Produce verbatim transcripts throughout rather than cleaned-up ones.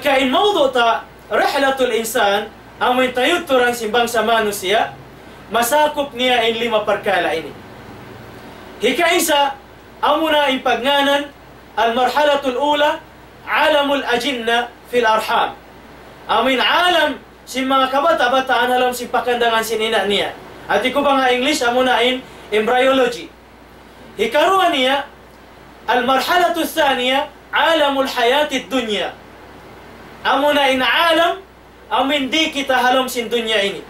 Ka in mawdu' ta, rihlatul insan, amu in tayudturan sin bangsa manusiya', masakup niya in lima parkala' ini. Hikaisa, amuna in pagngānan, al-marhalatul ula, alamul ajinna fil arham. Amu in alam sin manga kabata'-bataan ha lawm sin pakandangan sin ina' niya. Hati ku bang ha English, amuna in embryology. Hikaruwa niya, al-marhalatul thaniya, alamul hayatid dunya. Amuna in alam, amu in di kita ha lawm sin dunya ini.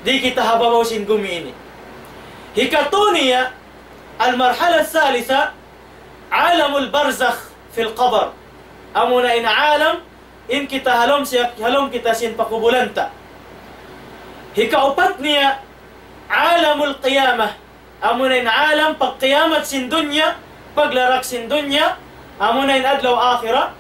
Di kita ha babaw sin gumi ini. Hikatu niya, al-marhala thalitha, alamul barzakh fil qabr. Amuna in alam, in kita ha lawm siya, ha lawm kita sin pakubulan ta. Hikaupat niya, alamul qiyamah. Amuna in alam pagkiyamat sin dunya, paglarak sin dunya, amuna in adlaw akhirat.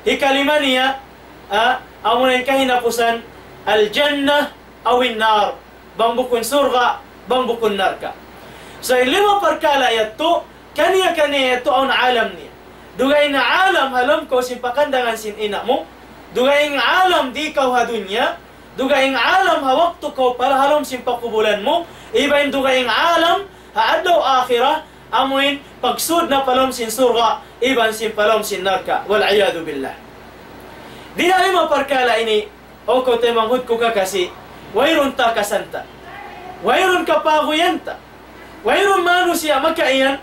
Hikalima niya, ah, amuna in kahinapusan, al-jannah aw in-nar. Bang bukun surga', bang bukun narka'. So, in lima parkala' yadtu, kaniya-kaniya yadtu awn alam niya. Dugaing alam ha lawm kaw sin pakandangan sin ina' mu, dugaing alam di kaw ha dunya, dugaing alam ha waktu kaw pa ha lawm sin pakubulan mu, iban dugaing alam ha adlaw akhirat, amu in pagsud na pa lawm sin surga', iban sin pa lawm sin narka'. Wal iyadhu billah. Di ha lima parkala' ini, o kaw taymanghud ku kakasi, wayruun takasan ta. Wayruun kapaguyan ta. Wayruun manusiya' makaiyan,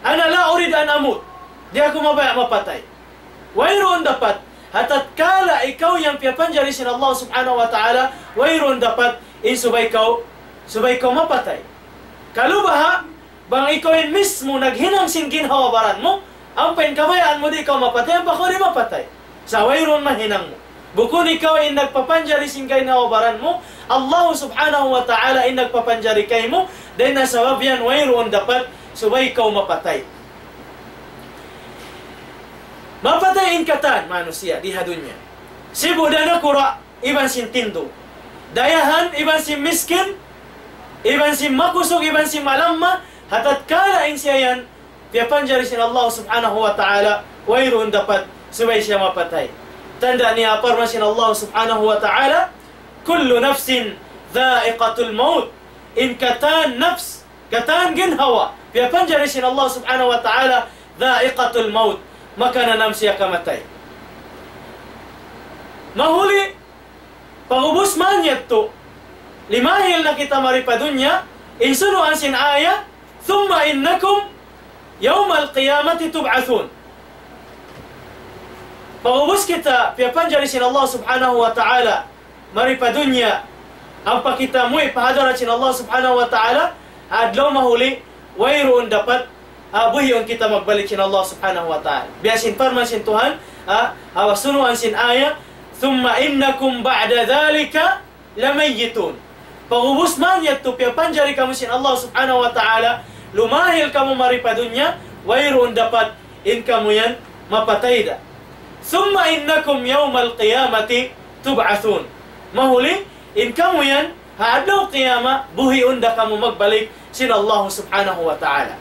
أنا لا أريد أن أموت. Di' aku mabaya' mapatay. Wayruun dapat. Ha tatkala ikaw yan piyapanjari sin Allah subhanahu wa ta'ala, wayruun dapat in subay kaw, subay kaw mapatay. Kalu baha', bang ikaw in mismu naghinang sin ginhawa-baran mu, ampa in kabayaan mu di' kaw mapatay, ampa kaw di' mapatay. Sa' wayruun mahinang mu. Bukun ikaw in nagpapanjari sin ginhawa-baran mu, Allah subhanahu wa ta'ala in nagpapanjari kaymu, dayn ha sabab yan wayruun dapat subay kaw mapatay. Mapatay in katan manusiya' di ha dunya. Sibu' da nakura', iban sin tindug. Dayahan, iban sin miskin, iban sin makusug, iban sin malamma, ha tatkala in siya yan, piyapanjari sin Allah subhanahu wa ta'ala, wayruun dapat subay siya mapatay. Tanda' niya parman sin Allah subhanahu wa ta'ala, كل نفس ذائقة الموت. In katan nafs, katan ginhawa, piyapanjari sin Allah subhanahu wa ta'ala, ذائقة الموت. Makananam siya kamatay. Mahuli, pag'ubus man yadtu, limahil na kita mari pa dunya, in sunuan sin aya, ثم إنكم يوم القيامة تبعثون. Pag'ubus kita piyapanjari sin Allah subhanahu wa ta'ala, mari pa dunya, ampa kita muwi' pa hadarat sin Allah subhanahu wa ta'ala, adlaw mahuli, wayruun dapat, ah, buhiun kita magbalik sin Allah subhanahu wa ta'ala. Biya' sin parman sin Tuhan, ah, ha sunuan sin aya, ثم إنكم بعد ذلك لميتون. Pag'ubus man yadtu piyapanjari kamu sin Allah subhanahu wa ta'ala, lumahil kamu mari pa dunya, wayruun dapat in kamu yan mapatay da. ثم إنكم يوم القيامة تبعثون. Mahuli, in kamu yan, ha adlaw qiyamah, buhiun da kamu magbalik sin Allah subhanahu wa ta'ala.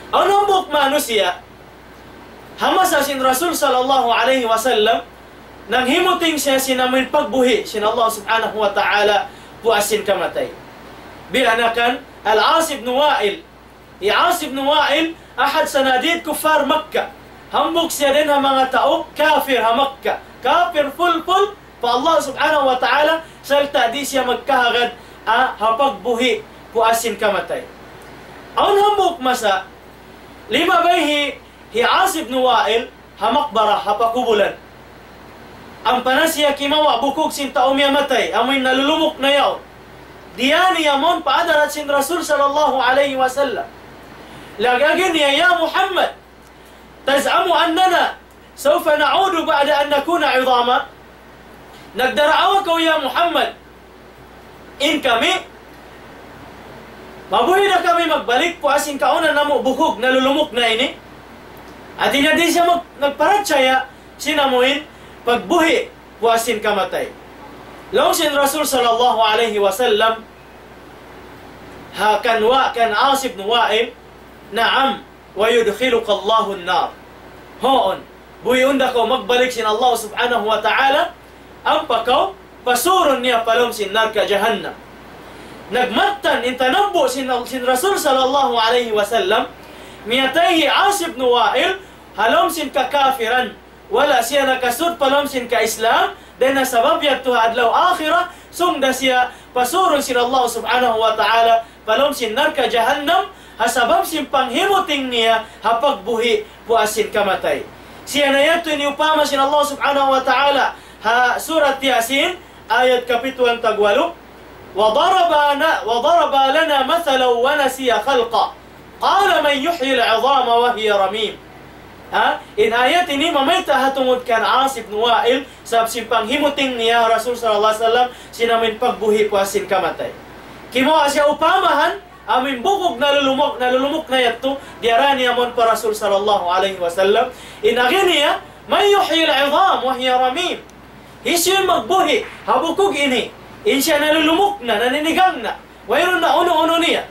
Awn hambuuk manusiya', ha masa sin Rasul sallallahu alayhi wasallam, nanghimuting siya sin amuin pagbuhi' sin Allah subhanahu wa ta'ala puas sin kamatay. Biya' na kan Al-As ibn Wa'il. Hi As ibn Wa'il, ahad sanadid kuffar Makkah. Hambuuk siya dayn ha manga tau kafir ha Makkah. Kafir full-full pa Allah subhanahu wa ta'ala, sarta' di' siya magkahagad, ah, ha pagbuhi' puas sin kamatay. Awn hambuuk masa, limabay hi, hi As ibn Wa'il, ha maqbarah, ha pakubulan. Ampa na siya kimawa' bukug sin tau miyatay, amuin nalulumuk na yaun. Diyā niya mawn pa hadarat sin Rasul sallallahu alayhi wasallam. Laung niya, "يا محمد، تزعم أننا سوف نعود بعد أن نكون عظاما؟" Nagdaraawa kaw, ya Muhammad, in kami, mabuhi' da kami magbalik puas sin kauna namu' bukug nalulumuk na ini. Hāti niya di' siya mag-, nagparachaya sin amuin pagbuhi' puas sin kamatay. Laung sin Rasul sallallahu alayhi wasallam, ha kan wa-, kan As ibn Wa'il, "نعم، ويدخلك الله النار." Huun, Buhiun da kaw magbalik sin Allah subhanahu wa ta'ala, ampa kaw pasurun niya pa lawm sin narka' jahannam. Nagmattan in tanabbu' sin, sin Rasul sallallahu alayhi wasallam, miyatay hi As ibn Wa'il, ha lawm sin kakafiran, wala' siya nakasud pa lawm sin ka-Islam, dayn ha sabab yadtu ha adlaw akhirat, sung da siya pasurun sin Allah subhanahu wa ta'ala, pa lawm sin narka' jahannam, ha sabab sin panghimuting niya, ha pagbuhi' puas sin kamatay. Siya na yadtu in iyupama sin Allah subhanahu wa ta'ala, ha surat Yasin, ayat kapituan tagwalu, وضرب لنا، وضرب لنا مثلا ونسي خلقه قال من يحيي العظام وهي رميم. Ha? In ayat ini mamayta' ha tungud kan As ibn Wa'il, sabab sin panghimuting niya Rasul sallallahu alayhi wasallam, sin amuin pagbuhi' puas sin kamatay. Kimawa' siya upamahan, amuin bukug nalulumuk, nalulumuk na yadtu, diyara niya mawn pa Rasul sallallahu alayhi wasallam. In agi niya, من يحيي العظام وهي رميم. Hisiyu in magbuhi' ha bukug ini, in siya nalulumuk na, naninigang na, wayruun na unu-unu niya.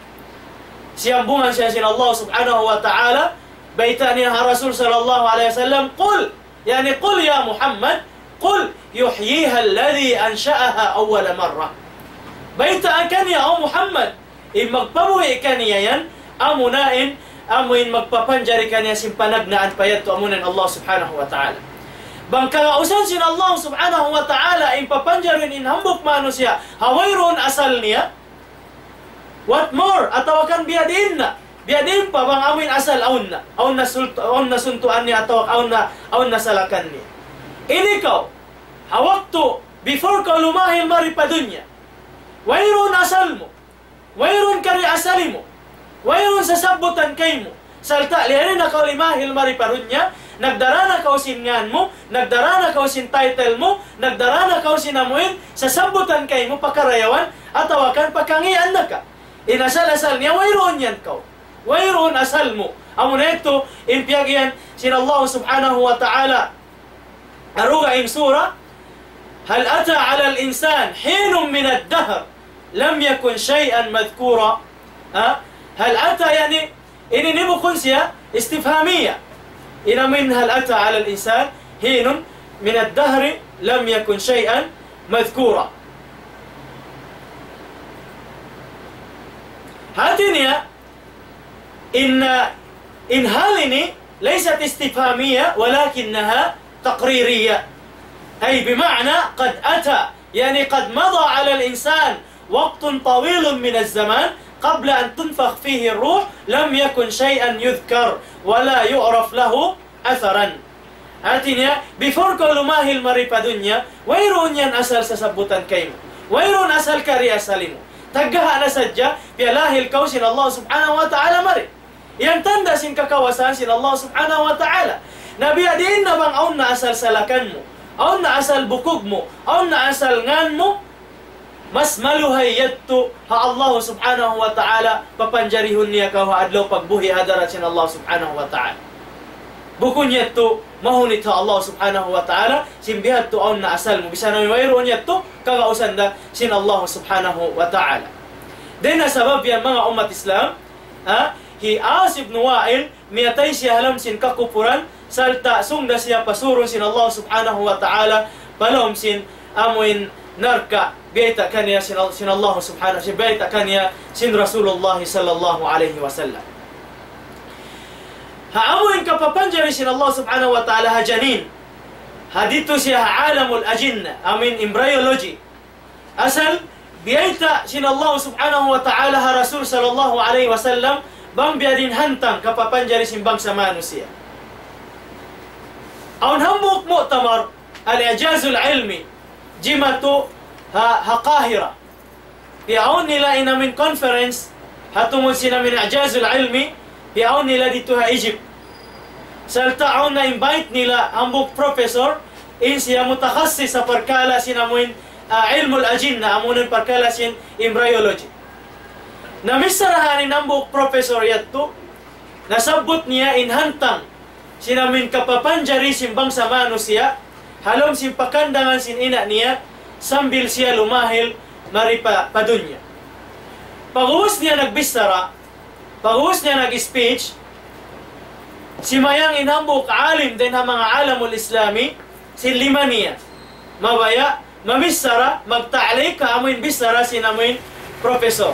Siyambungan siya sin Allah subhanahu wa ta'ala, bayta' niya ha Rasul sallallahu alayhi wasallam, قل, yani قل يا محمد، قل يحييها الذي أنشأها أول مرة. Bayta' kaniya, O Muhammad, in magpabuhi' kaniya yan, amuna in, amu in magpapanjari kaniya sin panagnaan pa yadtu, amuna in Allah subhanahu wa ta'ala. Bang kagausan sin Allah subhanahu wa ta'ala, in papanjari in hambuuk manusiya', ha wayruun asal niya, what more, atawa kan biyadiin na, biyadiin pa bang amuin asal awn na, awn na sult-, awn na suntuan niya, atawa awn na, awn na salakan niya. Ini kaw, ha waktu, before kaw lumahil mari pa dunya, wayruun asal mu, wayruun kari asali mu, wayruun sasabbutan kaymu. Sarta' liyari na kaw limahil mari pa dunya, nagdara na kaw sin ngan mu, nagdara na kaw sin title mu, nagdara na kaw sin amuin sasabbutan kaymu pa karayawan, atawa kan pa kangīan na ka. In asal-asal niya, wayruun yan kaw. Wayruun asal mu. Amuna yadtu, in piyag-iyan sin Allah subhanahu wa ta'ala. Aruga in sura, هل أتى على الإنسان حين من الدهر لم يكن شيئا مذكورا. Ha? هل أتى, yani, ini, ini bukun siya istifhamiya. Ina min هل أتى على الإنسان حين من الدهر لم يكن شيئا مذكورا. Hati niya, in, in hal ini ليست استفهامية ولكنها تقريرية. أي بمعنى قد أتى، يعني قد مضى على الإنسان وقت طويل من الزمان قبل أن تنفخ فيه الروح، لم يكن شيئا يذكر ولا يعرف له أثرا. Hati niya, before kaw lumahil mari pa dunya, wayruun yan asal sasabbutan kaymu. Wayruun asal kari asali mu. Taggaha' na sadja, piyalahil kaw sin Allah subhanahu wa ta'ala mari. Yan tanda' sin kakawasahan sin Allah subhanahu wa ta'ala. Na biyadiin na bang awn na asal salakan mu, awn na asal bukug mu, awn na asal ngan mu, mas maluhay yadtu ha Allah subhanahu wa ta'ala, papanjarihun niya kaw ha adlaw pagbuhi' ha hadarat sin Allah subhanahu wa ta'ala. Bukun yadtu mahunit ha Allah subhanahu wa ta'ala, sin bihadtu awn na asal mu. Bisan na wayruun yadtu, kagausan da sin Allah subhanahu wa ta'ala. Dayn ha sabab yan, manga ummat Islam, ha, hi As ibn Wa'il, miyatay siya ha lawm sin kakupuran, sarta' sung da siya pasurun sin Allah subhanahu wa ta'ala, pa lawm sin amuin narka', biyayta' kaniya sin, sin Allah subhanahu, sin biyayta' kaniya sin Rasulullah sallallahu alayhi wasallam. Ha amuin kapapanjari sin Allah subhanahu wa ta'ala ha janin. Ha ditu siya ha alamul ajinna, amuin embryology. Asal, biyayta' sin Allah subhanahu wa ta'ala ha Rasul sallallahu alayhi wasallam, bang biya' diin hantang kapapanjari sin bangsa manusiya'. Awn hambuuk mu'tamar, al-i'jazul ilmi, jimatu ha, ha Qahira. Piyaawn nila in amuin conference, ha tungud sin amuin i'jazul ilmi, piyaawn nila ditu ha Egypt. Sarta' awn na-invite nila hambuuk professor, in siya mutakhassis ha parkala' sin amuin, ah, ilmul ajinna, amuin parkala' sin embryology. Na misan da in hambuuk professor yadtu, nasabbut niya in hantang sin amuin kapapanjari sin bangsa manusiya', ha lawm sin pakandangan sin ina' niya, sambil siya lumahil mari pa, pa dunya. Pag'ubus niya nagbichara, pag'ubus niya nag-speech, Simayang in hambuuk alim dayn ha manga alamul Islami, sin lima niya. Mabaya', mamichara, magta'liq ha amuin bichara sin amuin professor.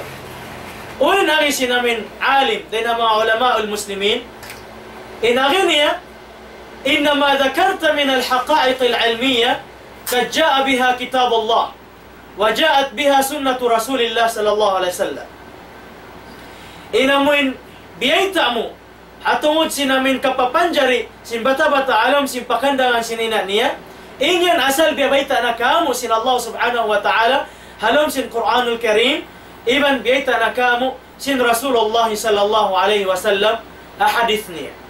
Unu in agi sin amuin alim dayn ha manga ulamaul muslimin, in agi niya, إنما ذكرت من الحقائق العلمية قد جاء بها كتاب الله وجاءت بها سنة رسول الله صلى الله عليه وسلم. In amuin biyayta' mu, ha tungud sin amuin kapapanjari sin bata'-bata' ha lawm sin pakandangan sin ina' niya, in yan asal biyabayta' na kamu' sin Allah Subhanahu wa Ta'ala, ha lawm sin Qur'anul Karim, iban biyayta' na kamu' sin Rasulullah sallallahu alayhi wasallam, ha hadith niya.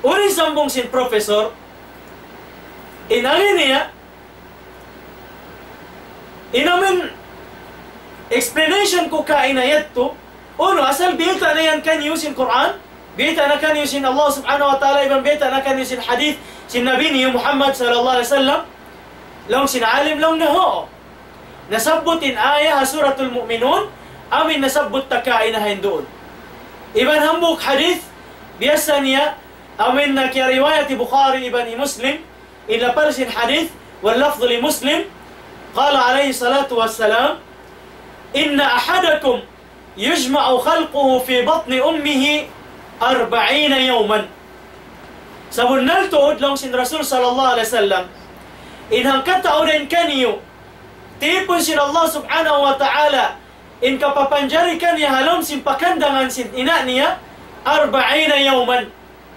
Unu in sambung sin professor, in agi niya, in amuin explanation ku kaina yadtu, unu, asal biyayta' na yan kaniyu sin Qur'an, biyayta' na kaniyu sin Allah Subhanahu wa Ta'ala, iban biyayta' na kaniyu sin hadith sin Nabi niyu Muhammad sallallahu alayhi wasallam, laung sin alim, laung niya, huun. Nasabbut in aya ha Suratul Mu'minun, amuin nasabbut ta kaina ha yan duun. Iban hambuuk hadith, biya' sa niya, amuin na kiyariwayat hi Bukhari iban hi Muslim, in lapal sin hadith, واللفظ لمسلم، قال عليه الصلاة والسلام: إن أحدكم يجمع خلقه في بطن أمه أربعين يوما. Sabunnal tuud laung sin Rasul sallallahu alayhi wasallam, in hangkatau dayn kaniyu, tipun sin Allah Subhanahu wa Ta'ala, in kapapanjari kaniya ha lawm sin pakandangan sin ina' niya, أربعين يوما,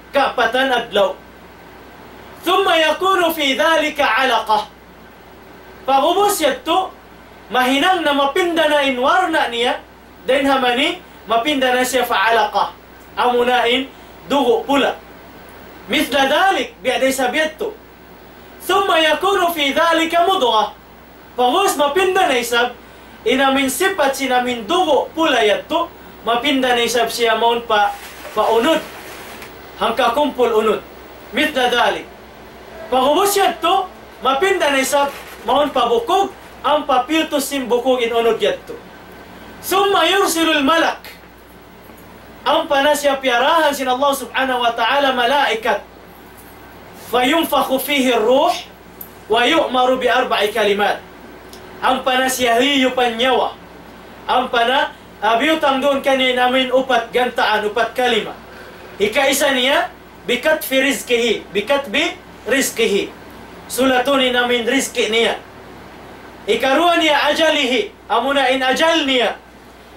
kaapatan adlaw. ثم يكون في ذلك علقة. Pag'ubus yadtu, mahinang na mapinda na in warna' niya, dayn ha mani, mapinda na siya pa alaqa. Amuna in dugu' pula. مثل ذلك, biya' da isab yadtu. ثم يكون في ذلك مضغة. Pag'ubus mapinda na isab, in amuin sipat sin amuin dugu' pula yadtu, mapinda na isab siya mawn pa, pa unud. Hangka kumpul unud. مثل ذلك. Pag'ubus yadtu, mapinda na isab mawn pa bukug, ampa piyutus sin bukug in unud yadtu. ثم يرسل الملك. Ampa na siya piyarahan sin Allah Subhanahu wa Ta'ala malaikat. فينفخ فيه الروح ويؤمر بأربع كلمات. Ampa na siya hiyupan nyawa. Ampa na, ah, biyutang duun kaniya in amuin upat gantaan, upat kalima. Hikaisa niya, بكتب رزقه، بكتب رزقه. Sulatun in amuin rizki niya. Hikaruwa niya أجله, amuna in ajal niya.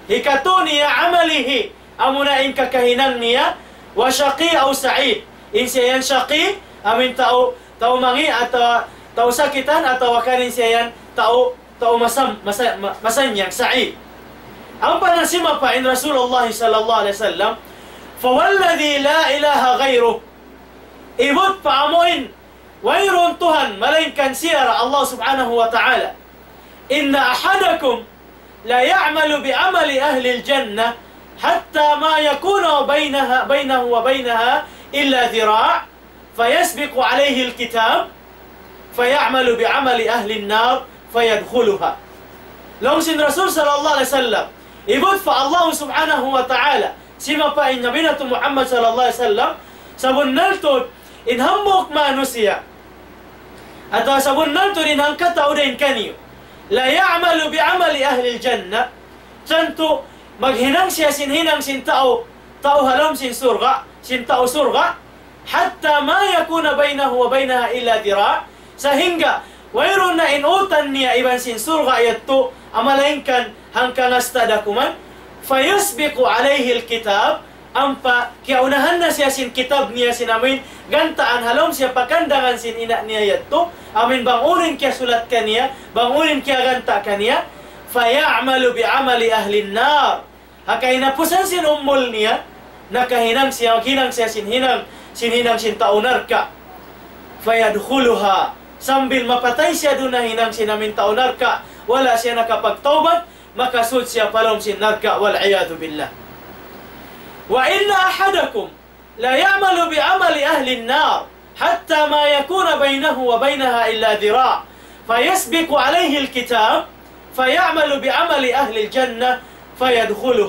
Hikatu niya عمله, amuna in kakahinang niya, وشقي أو سعيد. In siya yan shaqi, amuin tau, tau mangi' atawa tau sakitan atawa kan in siya yan tau, tau masam-, masa-, ma-, masannyang, sa'id. Ampa na simapa in Rasulullah sallallahu alayhi wasallam, فوالذي لا إله غيره. Ibut pa amuin wayruun Tuhan malaingkan siya ra Allah Subhanahu wa Ta'ala. إن أحدكم ليعمل بعمل أهل الجنة حتى ما يكون بينها، بينه وبينها إلا ذراع، فيسبق عليه الكتاب فيعمل بعمل أهل النار فيدخلها. Laung sin Rasul sallallahu alayhi wasallam, ibut pa Allah Subhanahu wa Ta'ala, simapa in Nabi natu' Muhammad sallallahu alayhi wasallam, sabunnal tuud in hambuuk manusiya', atawa sabunnal tuud in hangkatau dayn kaniyu, ليعمل بعمل أهل الجنة, tantu maghinang siya sin hinang sin tau, tau ha lawm sin surga', sin tau surga', حتى ما يكون بينه وبينها إلا ذراع, sahingga wayruun na in utan niya iban sin surga' yadtu, malaingkan hangka ngasta da kuman, فيسبق عليه الكتاب, ampa kiyaunahan na siya sin kitab niya sin amuin gantaan ha lawm siya pakandangan sin ina' niya yadtu, amuin bang unu in kiyasulat kaniya, bang unu in kiyaganta' kaniya, فيعمل بعمل أهل النار. Ha kahinapusan sin umul niya, nakahinang siya, hinang siya sin hinang, sin hinang sin tau narka'. فيدخلها. Sambil mapatay siya duun nahinang sin amuin tau narka', wala' siya nakapagtawbat, makasud siya pa lawm sin narka', والعياذ بالله. وإن أحدكم ليعمل بعمل أهل النار حتى ما يكون بينه وبينها إلا ذراع فيسبق عليه الكتاب فيعمل بعمل أهل الجنة فيدخلها.